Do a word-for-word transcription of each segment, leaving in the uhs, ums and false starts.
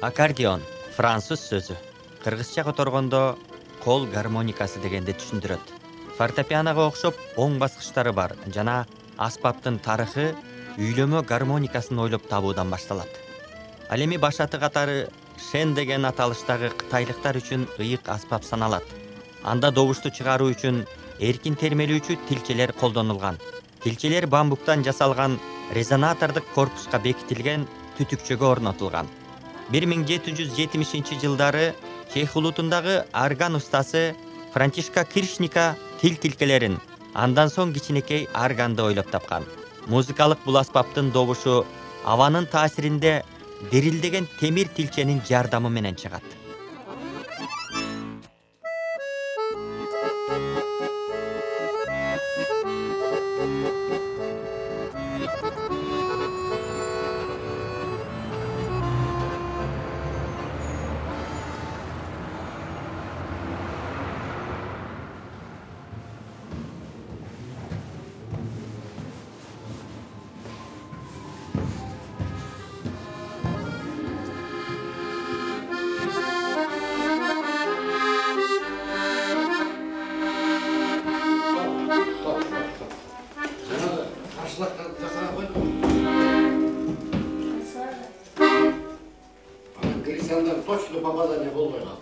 Аккордеон француз сөзү. Кыргызча которгондо кол гармоникасы дегенди түшүндүрөт. Фортепианого окшоп оң баскычтары бар жана аспаптын тарыхы үйлөмө гармоникасын ойлоп табуудан башталат. Ал эми баш аты катары шен деген аталыштагы кытайлыктар үчүн ыйык аспап саналат. Анда добушту чыгаруу үчүн эркин термелүүчү тилчелер колдонулган. Тилчелер бамбуктан жасалган резонатордук корпуска бекитилген түтүкчөгө орнотулган. бир миң жети жүз жетимишинчи жылдары Чех улутундагы орган устасы Франтишка Киршника тил тилкелерин, андан соң кичинекей органды ойлоп тапкан. Музыкалык бул аспаптын добушу абанын таасиринде дирилдеген темир тилченин жардамы менен чыгат. Точно попадание болбой калды.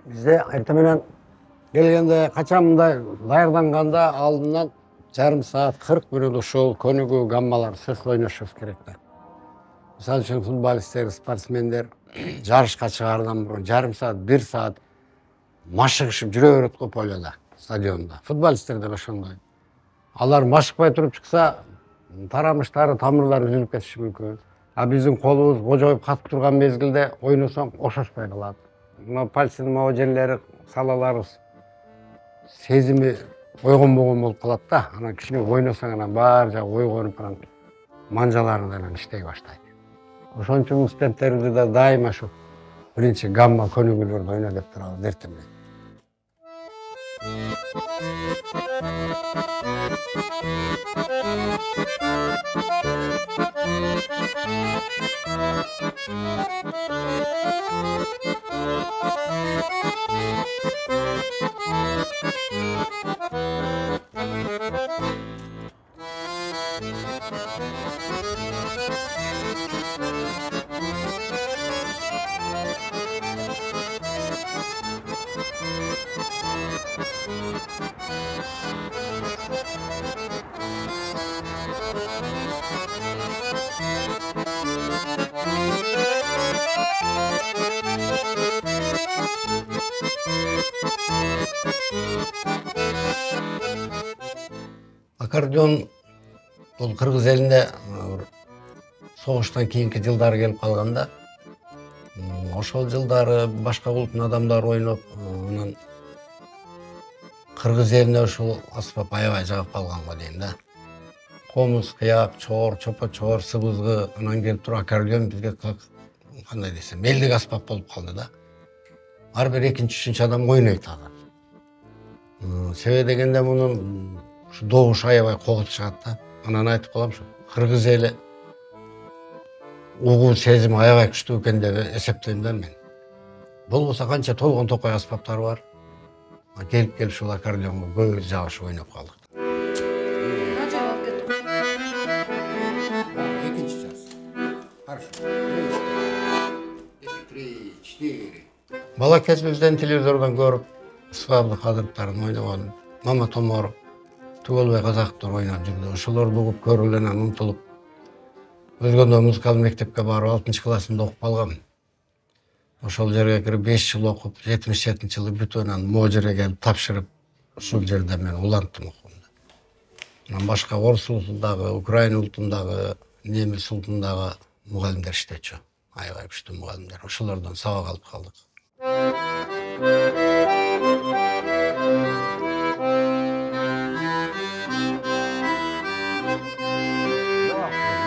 Bizde erta менен келгенде качан мындай даярданганда алдынан жарым саат кырк мүнөт ушул көнүгүү гаммалар сөз ойношубуз керек да. Мисалы үчүн футболисттер, спортсмендер жарышка чыгаардан мурун жарым саат, бир саат машыгышып жүрө берет го полода, стадиондо. Футболисттер да ошондой. Алар машыкпай туруп чыкса, тарамыштары, тамырлары үзүлүп кетиши мүмкүн. А биздин колубуз кожоюп катып турган мезгилде ойносоң ошошпой калат. Мына пальцынын могу жерлери, салаларыбыз сезими ойгонбогон болуп калат да. Анан кичине ойносоң анан баары жагы ойгонуп анан манжалары анан иштей баштайт. Ошон үчүн студенттерибизди да дайыма ушу биринчи гамма көнүгүүлөрдү ойно деп турабыз эртең. Аккордеон бул кыргыз элинде согуштан кийинки жылдары келип калганда, ошол жылдары башка улуттун адамдары ойноп, анан кыргыз элине ушул аспап аябай жагып калган го дейм да. Комуз, кыяк, чоор, чопо-чоор, сыбызгы, анан келип туруп аккордеон бизге кандай десем, элдик аспап болуп калды да. Ар бир экинчи, үчүнчү адам ойнойт азыр. Себеби дегенде мунун ушу добуш аябай когут чыгат да. Анан айтып калам ушу кыргыз эли угуу сезими аябай күчтүү экен деп эсептейм да мен. Болбосо канча толгон токой аспаптар бар. Келип келип ушул аккордеонго көбүбүз жабышып ойноп калдык. Канча алып кеттиң? Экинчи час. Хорошо. три, четыре. Бала кезибизден телевизордон көрүп, Ысыбабы Кадыровдордун ойногон, Мама Томоров, Түгөлбай Казаковдор ойноп жүрдү. Ошолорду угуп көрүп эле анан умтулуп өзгөндө музыкалык мектепке барып алтынчы классымда окуп калгам. Ошол жерге кирип беш жыл окуп, жетимиш жетинчи жылы бүтүп анан могу жерге келип тапшырып, ушул жерде мен уланттым окуумду. Анан башка орус улутундагы, украин улутундагы, немис улутундагы мугалимдер иштечү. Аябай күчтүү мугалимдер. Ошолордон сабак алып калдык.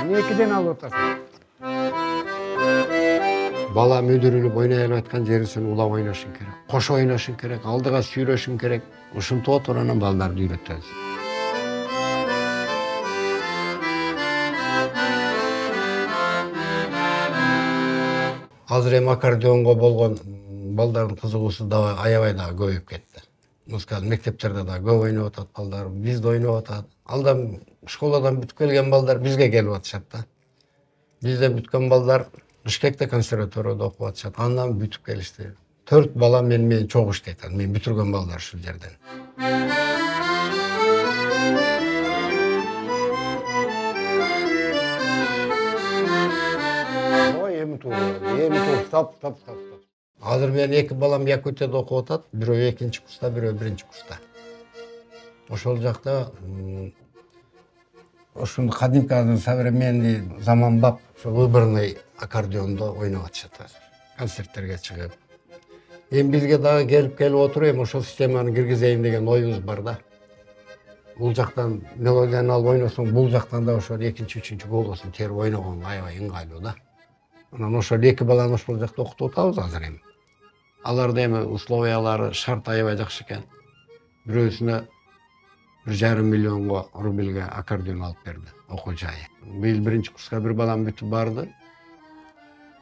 Эмнекиден алып атасың? Бала мүдүрүлүп ойной алып аткан жерин улап ойношуң керек. Кошо ойношуң керек, алдыга сүйрөшүң керек. Ушинтип отуруп анан балдарды үйрөтөбүз. Азыр эми аккордеонго болгон балдардын кызыгуусу дагы аябай дагы көбөйүп кетти. Музыкалык мектептерде дагы көп ойноп атат балдар, бизде ойноп атат. Алдан школадан бүтүп келген балдар бизге келип атышат да. Бизде бүткөн балдар Бишкекте консерваторияда окуп атышат. Андан бүтүп келишти. Төрт бала мен менен чогуу иштейт. Мен бүтүргөн балдар ушул жерден. Ой, эми туу, эми туу, стоп, стоп, стоп, стоп. Азыр менин эки балам Якутияда окуп атат. Бирөө экинчи курста, бирөө биринчи курста. Ошол жакта ушул кадимки азыр современный заманбап ошол выборный аккордеондо ойноп атышат азыр. Концерттерге чыгып. Эми бизге дагы келип келип отуруп, эми ошол системаны киргизейин деген оюбуз бар да. Бул жактан мелодияны алып ойносоң, бул жактан да ошол экинчи, үчүнчү голосун терип ойногон аябай ыңгайлуу да. Анан ошол эки баланы ошол жакта окутуп атабыз азыр эми. Аларда эми условиялары, шарт аябай жакшы экен. Бирөөсүнө бир жарым миллионго рубльге аккордеон алып берди, окуу жайы. Быйыл биринчи курска бир балам бүтүп барды.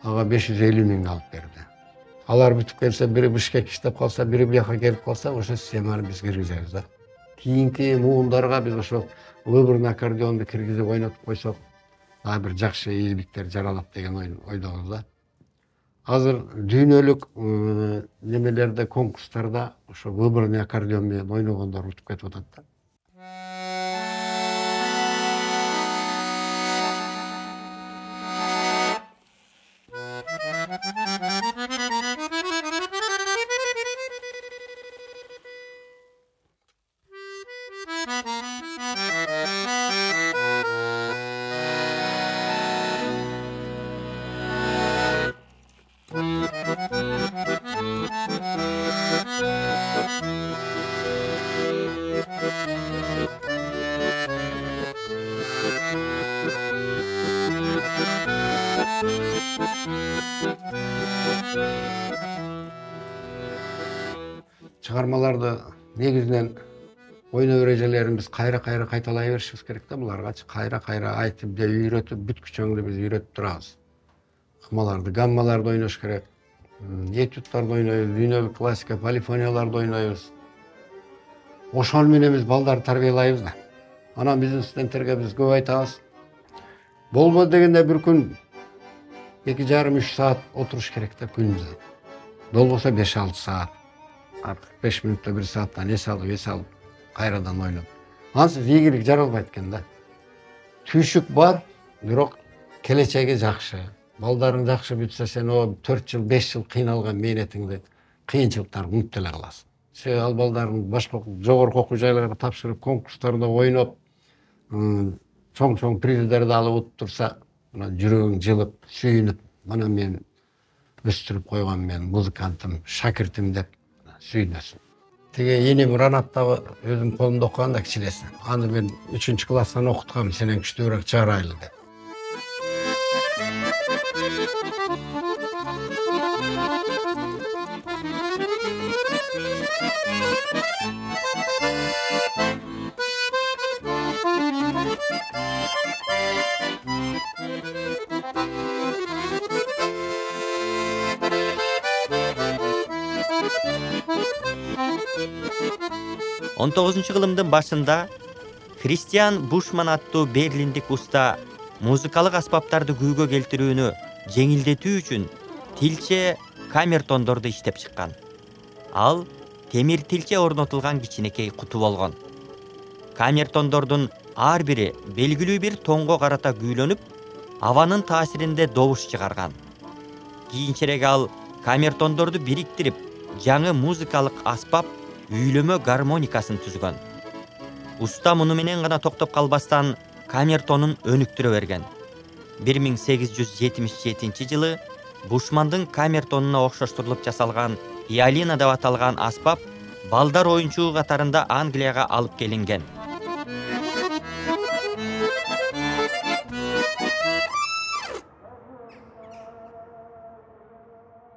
Ага беш жүз элүү миң алып берди. Алар бүтүп келсе, бири Бишкек иштеп калса, бири бияка келип калса, ошо системаны биз киргизебиз да. Кийинки муундарга биз ошол выборный аккордеонду киргизип ойнотуп койсок, дагы бир жакшы ийгиликтер жаралат деген ойдобуз да. Азыр дүйнөлүк немелерде, конкурстарда ошо выборный аккордеон менен ойногондор утуп кетип атат да. Чыгармаларды негизинен ойноо эрежелерин биз кайра-кайра кайталай беришибиз керек да. Буларгачы кайра-кайра айтып же үйрөтүп, бүткүчөңдү биз үйрөтүп турабыз. Ыкмаларды, гаммаларды ойнош керек. Этюдтарды ойнойбуз, дүйнөлүк классика, полифонияларды ойнойбуз. Ошол менен биз балдарды тарбиялайбыз да. Анан биздин студенттерге биз көп айтабыз. Болбоду дегенде бир күн эки жарым үч саат отуруш керек да күнүбүздө. Болбосо беш алты саат. кырк беш мүнөттө бир сааттан эс алып, эс алып, кайрадан ойноп. Ансыз ийгилик жаралбайт экен да. Түйшүк бар, бирок келечеги жакшы. Балдарың жакшы бүтсө, сен о төрт жыл, беш жыл кыйналган мээнетиңди, кыйынчылыктарды унутуп эле каласың. Себеби ал балдарың башка жогорку окуу жайларга тапшырып, конкурстарда ойноп, чоң-чоң приздерди алып утуп турса, жүрөгүң жылып, сүйүнүп, мына мен өстүрүп койгон мен музыкантым, шакиртим деп сүйүнөсүң. Тиги энем Ранаттагы өзүм колумда окуган да кичинеси. Аны мен үчүнчү класстан окуткам, сенен күчтүүрөөк чыгарайлы деп. он тогузунчу кылымдын башында Кристиан Бушман аттуу берлиндик уста музыкалык аспаптарды күйгө келтирүүнү жеңилдетүү үчүн тилче камертондорду иштеп чыккан. Ал темир тилче орнотулган кичинекей куту болгон. Камертондордун ар бири белгилүү бир тонго карата күүлөнүп, абанын таасиринде добуш чыгарган. Кийинчерээк ал камертондорду бириктирип, жаңы музыкалык аспап үйлөмө гармоникасын түзгөн. Уста муну менен гана токтоп калбастан камертонун өнүктүрө берген. бир миң сегиз жүз жетимиш жетинчи жылы Бушмандын камертонуна окшоштурулуп жасалган Иолина деп аталган аспап балдар оюнчугу катарында Англияга алып келинген.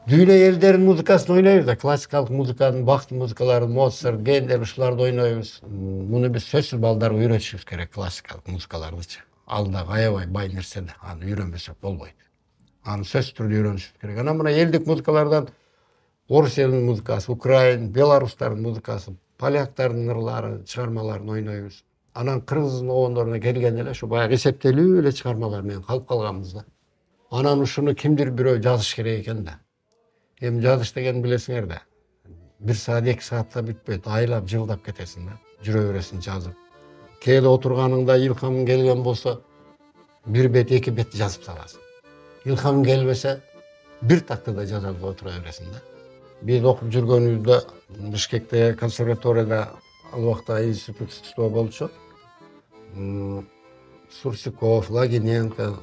Дүйнө элдеринин музыкасын ойнойбуз да, классикалык музыканын, бактын музыкаларын, Моцарт, Гендер ушуларды ойнойбуз. Муну биз сөзсүз балдарга үйрөтүшүбүз керек, классикалык музыкалардычы. Ал да аябай бай нерсе да, аны үйрөнбөсөк болбойт. Аны сөзсүз түрдө үйрөнүшүбүз керек. Анан мына элдик музыкалардан орус элинин музыкасы, украин, беларустардын музыкасы, поляктардын ырлары, чыгармаларын ойнойбуз. Анан кыргыздын обондоруна келгенде эле ушу баягы эсептелүү эле чыгармалар менен калып калганбыз да. Анан ушуну кимдир бирөө жазыш керек экен да. Эми жазыш деген билесиңер да. Бир саат, эки саатта бүтпөйт, айлап, жылдап кетесиң да. Жүрө бересиң жазып. Кээде отурганыңда илхамың келген болсо, бир бет, эки бет жазып саласың. Илхамың келбесе, бир тактада жазып отура бересиң да. Биз окуп жүргөнүбүздө Бишкекте консерваторияда ал убакта институтчу болчу. Сурсиков, Лагиненко,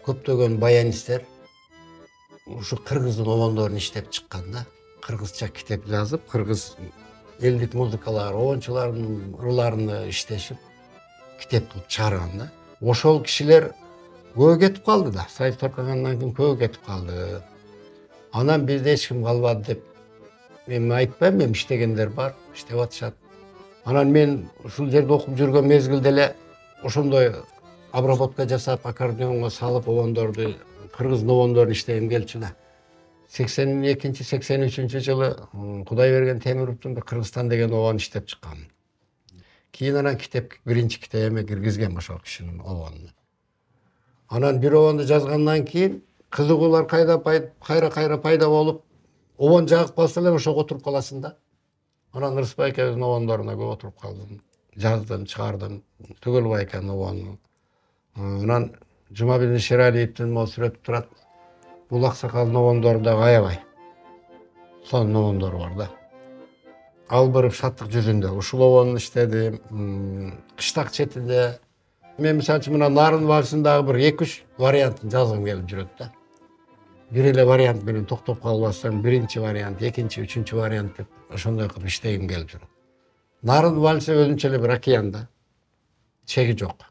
көптөгөн баянисттер ушу кыргыздын обондорун иштеп чыккан да. Кыргызча китеп жазып, кыргыз элдик музыкалар, обончулардын ырларын иштешип, китеп кылып чыгарган да. Ошол кишилер көбү кетип калды да. Союз таркагандан кийин көбү кетип калды. Анан бизде эч ким калбады деп мен айтпайм, мен иштегендер бар, иштеп атышат. Анан мен ушул жерде окуп жүргөн мезгилде эле ошондой обработка жасап, аккордеонго салып обондорду, кыргыздын обондорун иштегим келчү да. сексен экинчи сексен үчүнчү жылы Кудай берген Темировдун бир Кыргызстан деген обонун иштеп чыккан. Кийин анан китеп биринчи китебиме киргизген ошол кишинин обонун. Анан бир обонду жазгандан кийин кызыгуулар кайда кайра-кайра пайда болуп, обон жагып калса эле ошого отуруп каласың да. Анан Рыспай экебиздин обондоруна көп отуруп калдым. Жаздым, чыгардым. Түгөлбай экенин обону. Анан Жумабилдин Шералиевдин могу сүрөтүп турат. Бул аксакалдын обондору да аябай. Сонун обондору бар да. Албырып шаттык жүзүндө ушул обонду иштедим. Кыштак четинде мен мисалы үчүн мына Нарын вальсынын дагы бир эки үч вариантын жазгым келип жүрөт да. Бир эле вариант менен токтоп калбастан биринчи вариант, экинчи, үчүнчү вариант деп ошондой кылып иштегим келип жүрөт. Нарын вальсы өзүнчө эле бир океан да. Чеги жок.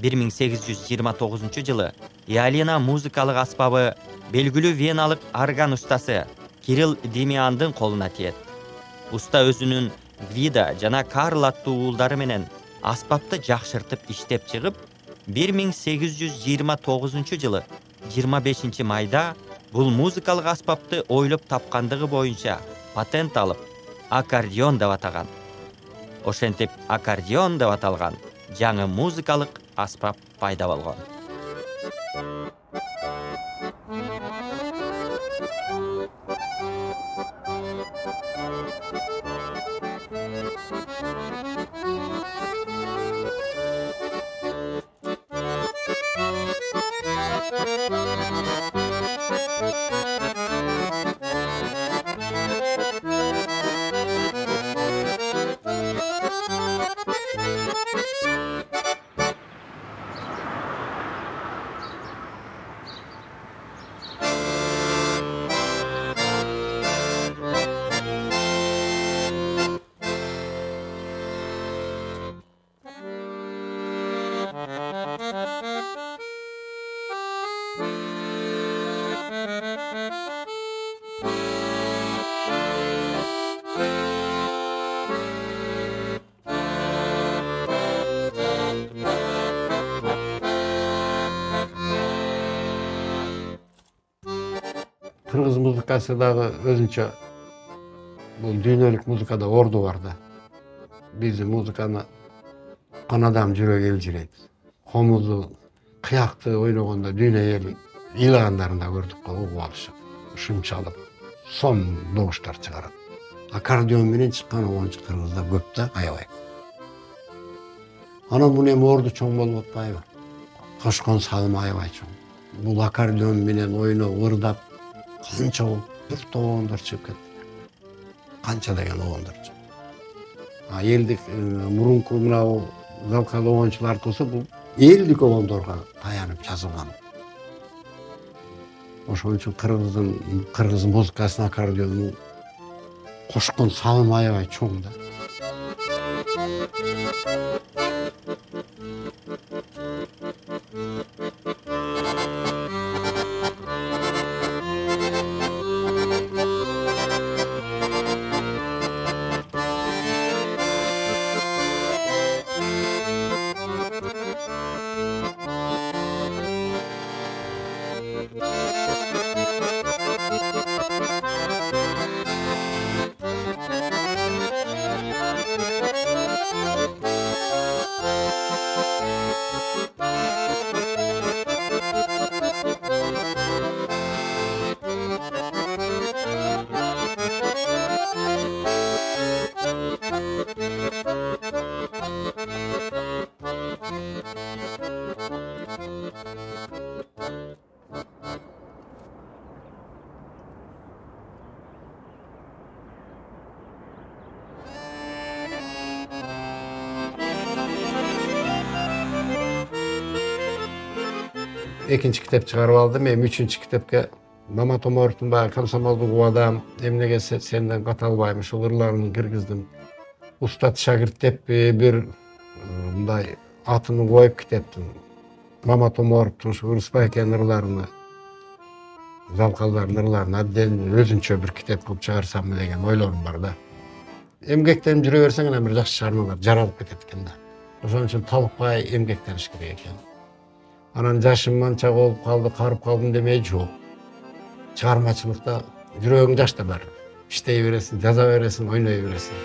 бир миң сегиз жүз жыйырма тогузунчу жылы Иолина музыкалык аспабы белгилүү веналык орган устасы Кирилл Демиандын колуна тиет. Уста өзүнүн Вида жана Карл аттуу уулдары менен аспапты жакшыртып иштеп чыгып, бир миң сегиз жүз жыйырма тогузунчу жылы жыйырма бешинчи майда бул музыкалык аспапты ойлоп тапкандыгы боюнча патент алып, аккордеон деп атаган. Ошентип аккордеон деп аталган жаңы музыкалык аспап пайда болгон. Кыргыз музыкасы дагы өзүнчө бул дүйнөлүк музыкада орду бар да. биздин музыканы уккан адам жүрөгү элжирейт. Комузду, кыякты ойногондо дүйнө эл ыйлагандарын да көрдүк го, угуп алышат. Ушунчалык сом добуштар чыгарат. Аккордеон менен чыккан оончу кыргызда көп да, аябай. Анан бул эми орду чоң болуп атпайбы? Кошкон салым аябай чоң. Бул аккордеон менен ойноп, ырдап, канча болуп бир тоондор чыгып кетти. Канча деген оондар чыгып. А элдик мурунку мына залкал оончулар болсо бул элдик оондорго таянып жазылган. Ошон үчүн кыргыздын кыргыз музыкасынын аккордеону кошкон салым аябай чоң да. Экинчи китеп чыгарып алдым. Эми үчүнчү китепке Мамат Омаровдун баягы комсомолдук убадам, эмнеге сенден ката албайм, ушул ырларын киргиздим. Устат шагирт деп бир мындай атын коюп китептин. Мамат Омаровдун ушу Ырысбайкенин ырларына, залкалдардын ырларына отдельно өзүнчө бир китеп кылып чыгарсамбы деген ойлорум бар да. Эмгектенип жүрө берсең анан бир жакшы чыгармалар жаралып кетет экен да. Ошон үчүн талыкпай эмгектениш керек экен. Анан жашым манча болуп калды, карып калдым демей жок. Чыгармачылыкта жүрөгүң жашта бар. Иштей бересиң, жаза бересиң, ойной бересиң.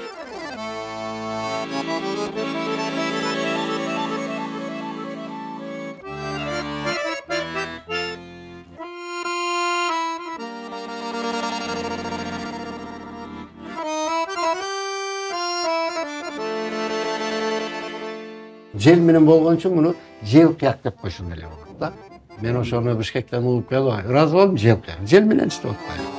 Жел менен болгон үчүн муну жел кыяк деп койсун эле болот да. Мен ошону Бишкектен угуп келип, ыраазы болдум, жел кыяк. Жел менен иштеп атпайбы.